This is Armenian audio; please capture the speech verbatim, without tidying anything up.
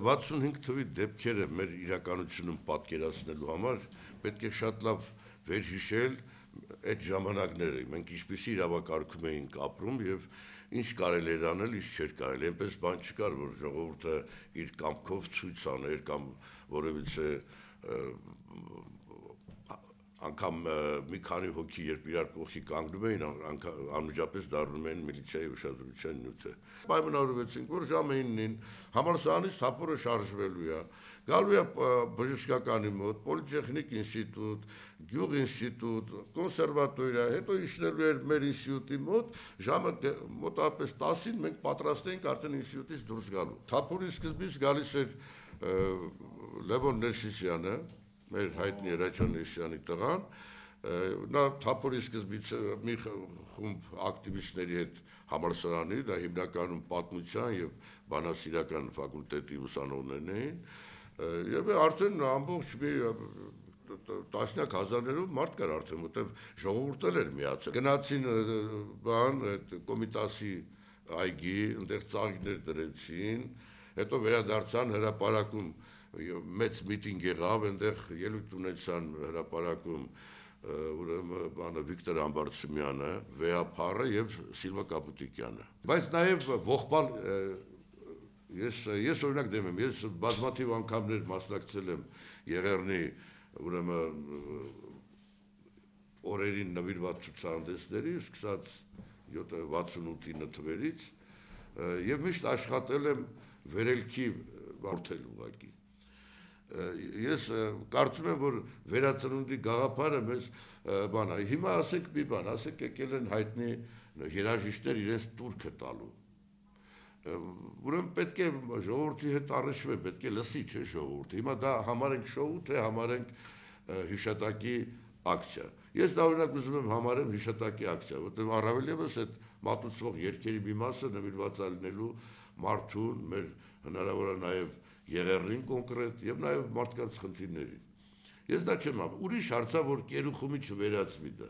վաթսունհինգ թվի դեպքերը մեր իրականությունում պատկերացնելու համար պետք է շատ լավ վերհիշել այդ ժամանակները, մենք ինչպիսի իրավակարգում էինք ապրում եւ ինչ կարելի էր անել, ինչ չէր կարելի, այնպես բան չկար, որ ժողովուրդը իր կամքով ցույց աներ կամ որևիցե անգամ մի քանի հոգի երբ իրար կողքի կանգնում էին, անմիջապես դառնում էին միլիցիայի ուշադրության նյութը։ Պայմանավորվեցինք, որ ժամը իննին համալսարանից թափորը շարժվելու է, գալու է բժշկականի մոտ, պոլիտեխնիկ ինստիտուտ, գյուղ ինստիտուտ, կոնսերվատորիա, հետո իջնելու էր մեր ինստիտուտի մոտ, ժամը մոտավորապես տասին մենք պատրաստ էինք արդեն ինստիտուտից դուրս գալու։ Թափորի սկզբից գալիս էր Լևոն Ներսիսյանը, մեր հայտնի Հրաչյան Ներսիսյանի տղան, նա թափորի սկզբից մի խումբ ակտիվիստների հետ համալսարանի, դա հիմնականում պատմության եւ բանասիրական ֆակուլտետի ուսանողներն էին, եւ արդեն ամբողջ մի տասնյակ հազարներով մարդ կար արդեն, որտեղ ժողովուրդը էր միացել։ Գնացին բան այդ Կոմիտասի այգի, այնտեղ ծաղիկներ դրեցին, հետո վերադարձան հրապարակում մեծ միտինգ եղավ, այնտեղ ելույթ ունեցան հրապարակում ուրեմն բանը Վիկտոր Համբարձումյանը, Վեհափառը եւ Սիլվա Կապուտիկյանը։ Բայց նաեւ ողբալ ես ես օրինակ դեմ եմ, ես բազմաթիվ անգամներ մասնակցել եմ Եղեռնի ուրեմն օրերին նվիրված ցուցահանդեսների, սկսած վաթսունութ թվերից եւ միշտ աշխատել եմ վերելքի որդել ուղղակի։ Ես կարծում եմ, որ վերածնունդի գաղափարը մեզ բան է, հիմա ասենք մի բան, ասենք եկել են հայտնի երաժիշտներ իրենց տուրքը տալու։ Ուրեմն պետք է ժողովրդի հետ առնչվեն, պետք է լսի, չէ՞ ժողովուրդը։ Հիմա դա համարենք շոու, թե համարենք հիշատակի ակցիա։ Ես դա օրինակ ուզում եմ համարեմ հիշատակի ակցիա, որտեղ առավել եւս այդ մատուցվող երգերի մի մասը նվիրված է լինելու մարդուն, մեր հնարավոր է նաեւ Եղեռնին կոնկրետ եւ նաեւ մարդկանց խնդիրներին։ Ես դա չեմ ամ, ուրիշ հարցա, որ կերուխումի չվերածվի դա։